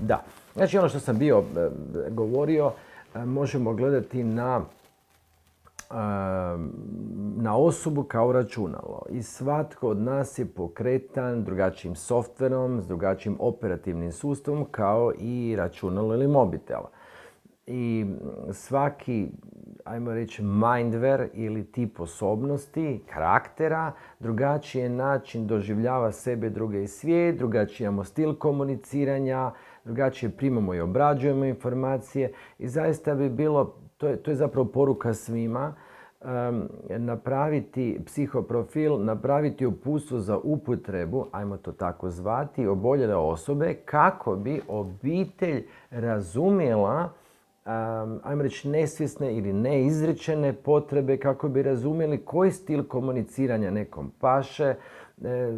Da. Znači ono što sam bio govorio, možemo gledati na osobu kao računalo. I svatko od nas je pokretan drugačijim softverom, s drugačijim operativnim sustavom kao i računalo ili mobitel. I svaki, ajmo reći, mindware ili tip osobnosti, karaktera, drugačiji način doživljava sebe, druge i svijet, drugačiji imamo stil komuniciranja, drugačije primamo i obrađujemo informacije i zaista bi bilo, to je zapravo poruka svima, napraviti psihoprofil, napraviti uputstvo za upotrebu, ajmo to tako zvati, oboljele osobe kako bi obitelj razumjela, ajmo reći, nesvjesne ili neizrečene potrebe, kako bi razumjeli koji stil komuniciranja nekom paše,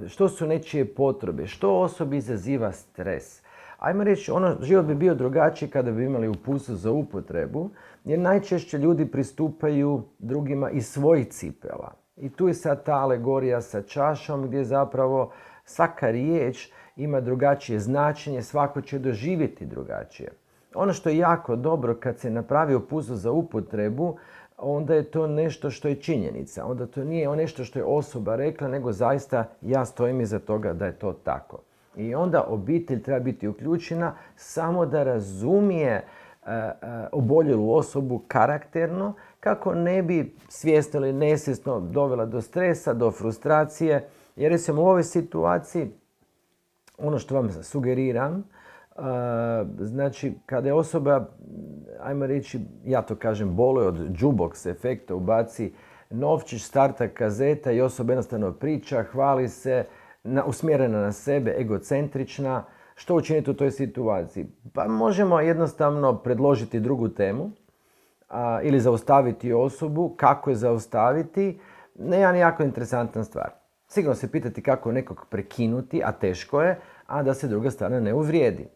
što su nečije potrebe, što osobi izaziva stres. Ajmo reći, život bi bio drugačiji kada bi imali uputstvo za upotrebu, jer najčešće ljudi pristupaju drugima iz svojih cipela. I tu je sad ta alegorija sa čašom gdje zapravo svaka riječ ima drugačije značenje, svako će doživjeti drugačije. Ono što je jako dobro kad se napravi uputstvo za upotrebu, onda je to nešto što je činjenica. Onda to nije nešto što je osoba rekla, nego zaista ja stojim iza toga da je to tako. I onda obitelj treba biti uključena samo da razumije oboljelu osobu karakterno, kako ne bi svjesno ili nesvjesno dovela do stresa, do frustracije. Jer recimo u ovoj situaciji, ono što vam sugeriram, znači kada je osoba, ajmo reći, ja to kažem, boluje od jukebox efekta, ubaci novčić, starta kazeta i osoba jednostavno priča, hvali se, usmjerena na sebe, egocentrična. Što učiniti u toj situaciji? Pa možemo jednostavno predložiti drugu temu ili zaustaviti osobu. Kako je zaustaviti? Jedan jako interesantan stvar. Sigurno se pitati kako nekog prekinuti, a teško je, a da se druga strana ne uvrijedi.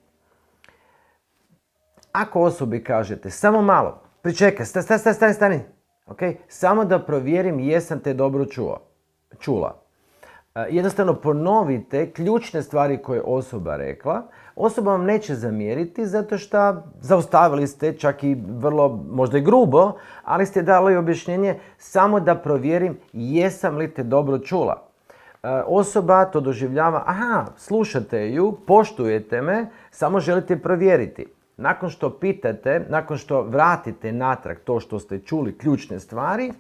Ako osobi kažete, samo malo, pričekaj, stani, okay? Samo da provjerim jesam te dobro čula. Jednostavno ponovite ključne stvari koje je osoba rekla. Osoba vam neće zamjeriti zato što zaustavili ste čak i vrlo, možda i grubo, ali ste dali objašnjenje samo da provjerim jesam li te dobro čula. Osoba to doživljava, aha, slušate ju, poštujete me, samo želite provjeriti. Nakon što pitate, nakon što vratite natrag to što ste čuli, ključne stvari,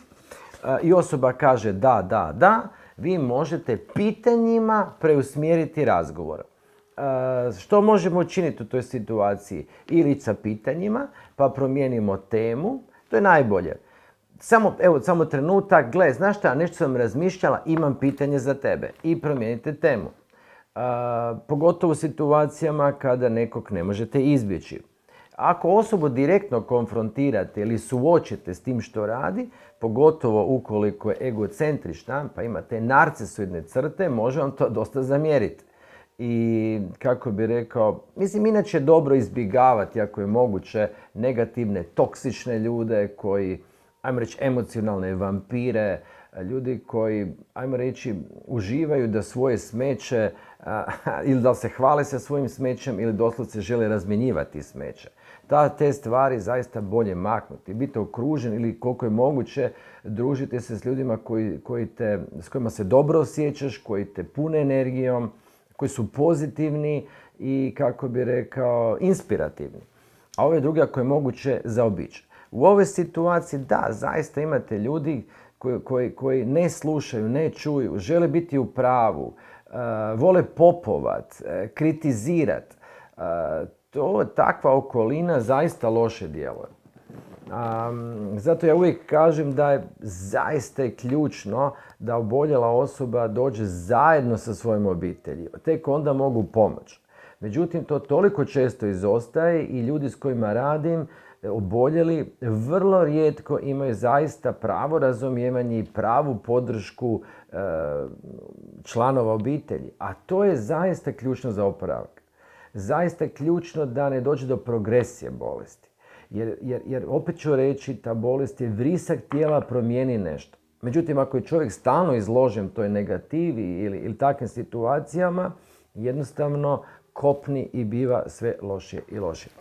i osoba kaže da, vi možete pitanjima preusmjeriti razgovor. Što možemo učiniti u toj situaciji? Ili sa pitanjima, pa promijenimo temu, to je najbolje. Samo trenutak, gle, znaš šta, nešto sam razmišljala, imam pitanje za tebe. I promijenite temu. Pogotovo u situacijama kada nekog ne možete izbjeći. Ako osobu direktno konfrontirate ili suočite s tim što radi, pogotovo ukoliko je egocentrična, pa ima te narcisoidne crte, može vam to dosta zamjeriti. I kako bi rekao, mislim, inače je dobro izbjegavati, ako je moguće, negativne, toksične ljude koji, ajmo reći, emocionalne vampire, ljudi koji, ajmo reći, uživaju da svoje smeće ili da se hvale sa svojim smećem ili doslovce žele razmjenjivati smeće. Te stvari zaista bolje maknuti. Biti okružen ili koliko je moguće družite se s ljudima s kojima se dobro osjećaš, koji te pune energijom, koji su pozitivni i, kako bi rekao, inspirativni. A ove druge ako je moguće zaobići. U ovoj situaciji, da, zaista imate ljudi koji ne slušaju, ne čuju, žele biti u pravu, vole popovat, kritizirat. Takva okolina zaista loše djeluje. Zato ja uvijek kažem da je zaista ključno da oboljela osoba dođe zajedno sa svojom obitelji. Tek onda mogu pomoći. Međutim, to toliko često izostaje i ljudi s kojima radim, oboljeli, vrlo rijetko imaju zaista pravo razumijevanje i pravu podršku članova obitelji. A to je zaista ključno za oporavak. Zaista je ključno da ne dođe do progresije bolesti. Jer opet ću reći, ta bolest je vrisak tijela, promijeni nešto. Međutim, ako je čovjek stalno izložen toj negativi ili takvim situacijama, jednostavno kopni i biva sve lošije i lošije.